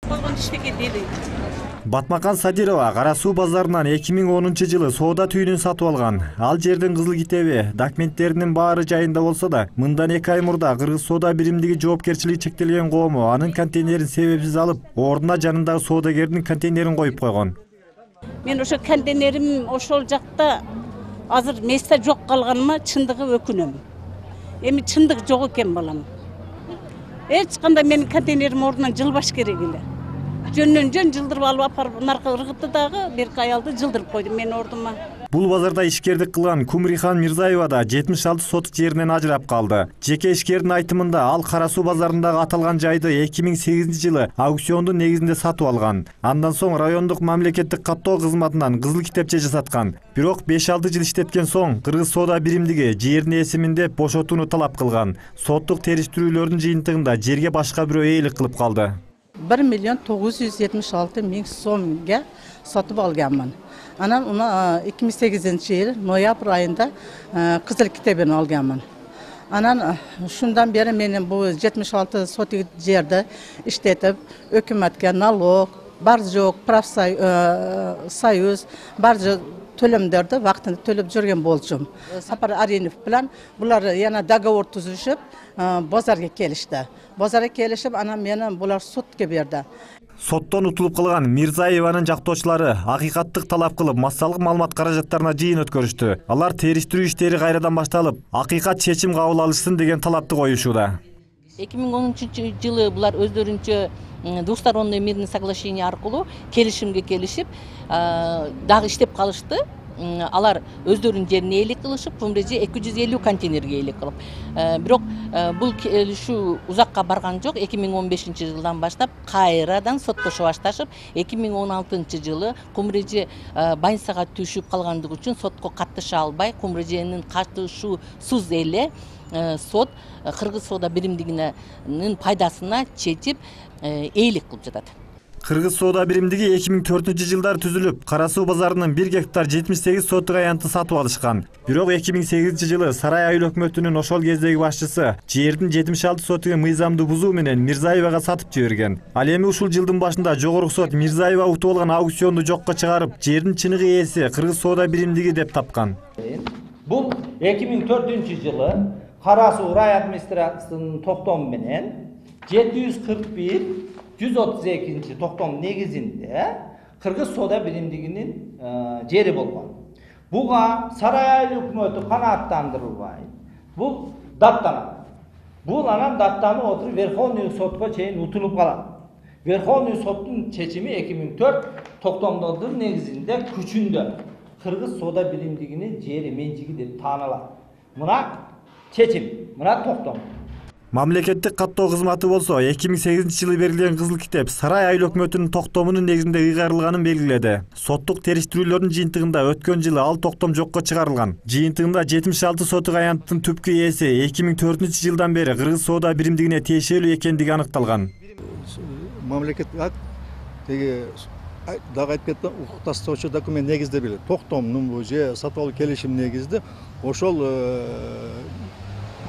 койгон иштеке дели. Батмакан Садирова Кара Суу базарынан 2010-жылы соода түйүнүн сатып алган. Ал жердин кызыл китеби, документтеринин баары жайында болсо да, мындан 2 ай мурда Кыргыз соода биримдиги жоопкерчилиги чектелген коому анын контейнерин себепсиз алып, ордуна жанындагы соодагердин контейнерин коюп койгон. Мен ошо контейнерим ошол жакта азыр месте жок калганыма чындыгы өкүнөм. Эми чындык жок экен балам. Эч кандай менин контейнерим ордунан жылбаш керек эле. Жөндөн жөн жылдырып алып апарып наркы ыргытты дагы, берки аялды жылдырып койду менин ордума. Бул базарда ишкердик кылган Кумрихан Мирзаева да 76 сотук жеринен ажырап калды. Жеке ишкердин айтымында ал Кара Суу базарындагы аталган жайды 2008-жылы аукциондун негизинде сатып алган. Андан соң райондук мамлекеттик каттоо кызматынан кызыл китепче жасаткан. Бирок 5-6 жыл иштеткен соң Кыргыз соода биримдиги жерин эсимин деп бошотууну талап кылган. Соттук териштирүүлөрдүн жыйынтыгында жерге башка бирөө ээлик кылып калды. 1.976.000 сомго сатып алганмын. Анан 2008-жыл ноябрь айында кызыл китебин алганмын. Анан шундан бери менин бул 76 сотук жерди иштетип, өкмөткө налог, бар жок, профсоюз, бар төлөмдөрдү вактында төлөп жүргөн болчумун. Сапар Аринов менен булар яна договор түзүшүп, базарга келишти. Базарга келишип, анан мени булар сотко берди. Соттон утулуп калган Мирзаеванын жактоочулары акыйкаттык талап кылып, массалык маалымат каражаттарына жыйын өткөрүштү. Алар териштирүү иштери кайрадан башталып, акыйкат чечим кабыл алышсын деген талапты коюшууда. 2010-жылы булар өздөрүнчө двусторонний мирный соглашение аркылуу келишимге келишип, дагы иштеп калышты. Алар өздөрүнүн жерине ээлик кылышып, Кумреже 250 контейнерге ээлик кылып. Бирок бул келишүү узакка барган жок. 2015-жылдан баштап кайрадан соттошо башташып, 2016-жылы Кумреже больницага түшүп калгандыгы үчүн сотко каттыша албай, Кумреженин катышуусуз эле сот Кыргыз соода биримдигинин пайдасына чечип ээлик кылып жатат. Кыргыз соода биримдиги 2004-жылдары түзүлүп, Кара Суу базарынан 1 гектар 78 сотук аянтты сатып алышкан. Бирок 2008-жылы Сарай айыл өкмөтүнүн ошол кездеги башчысы жердин 76 сотугун мыйзамды бузуу менен Мирзаевага сатып жиберген. Ал эми ушул жылдын башында Жогорку сот Мирзаева утуп алган аукционду жокко чыгарып, жердин чыныгы ээси Кыргыз соода биримдиги деп тапкан. Бул 2004-жылы Кара Суу рай администрациясынын токтому менен 741-132 токтом негизинде Кыргыз соода биримдигинин жери болгон. Буга Сарай айыл өкмөтү канааттандырылбай, бул даттанат. Бул анан даттанып отуруп Верховный сотко чейин утулуп калат. Верховный соттун чечими 2004 токтомдордун негизинде күчүндө Кыргыз соода биримдигинин жери менчиги деп таанылат. Мына чечим, мына токтом. Мамлекеттик каттоо кызматы болсо 2008-жылы берилген кызыл китеп Сарай айыл өкмөтүнүн токтомунун негизинде ыйгарылганын белгиледи. Соттук териштирүүлөрдүн жыйынтыгында өткөн жылы ал токтом жокко чыгарылган. Жыйынтыгында 76 сотук аянттын түпкү ээси 2004-жылдан бери Кыргыз соода биримдигине тиешелүү экендиги аныкталган. Мамлекеттик акт теги дагы айтып кетти, укукташтыруучу документ негизде белет. Токтомдун же сатып алуу келишим негизде ошол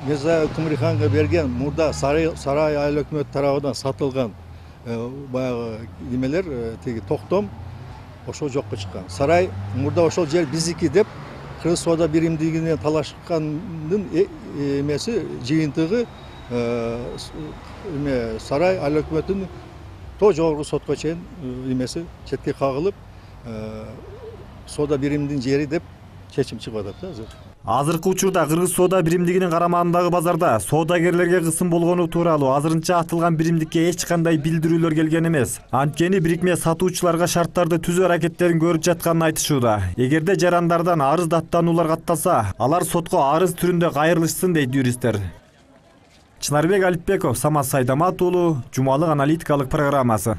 Мирзаева Кумриханга берген мурда Сарай айыл өкмөтү тарабынан сатылган баягы немелер теги токтом ошол жокко чыккан. Сарай мурда ошол жер биздики деп Кыргыз соода биримдигине талашкандын эмеси жыйынтыгы Сарай айыл өкмөтүнүн жогорку сотко чейин эмеси четке кагылып соода биримдигинин жери деп чечим чыгып атат да азыр. Азыркы учурда Кыргыз соода биримдигинин карамагындагы базарда соодагерлерге кысым болгону тууралуу азырынча атылган биримдикке эч кандай билдирүүлөр келген эмес. Анткени бирикме сатуучуларга шарттарды түзүү аракеттерин көрүп жатканын айтышууда. Эгерде жарандардан арыз даттануулар катталса, алар сотко арыз түрүндө кайрылышсын дейт юристтер. Чынарбек Алипбеков, Самат Сайдамат уулу, Жумалык аналитикалык программасы.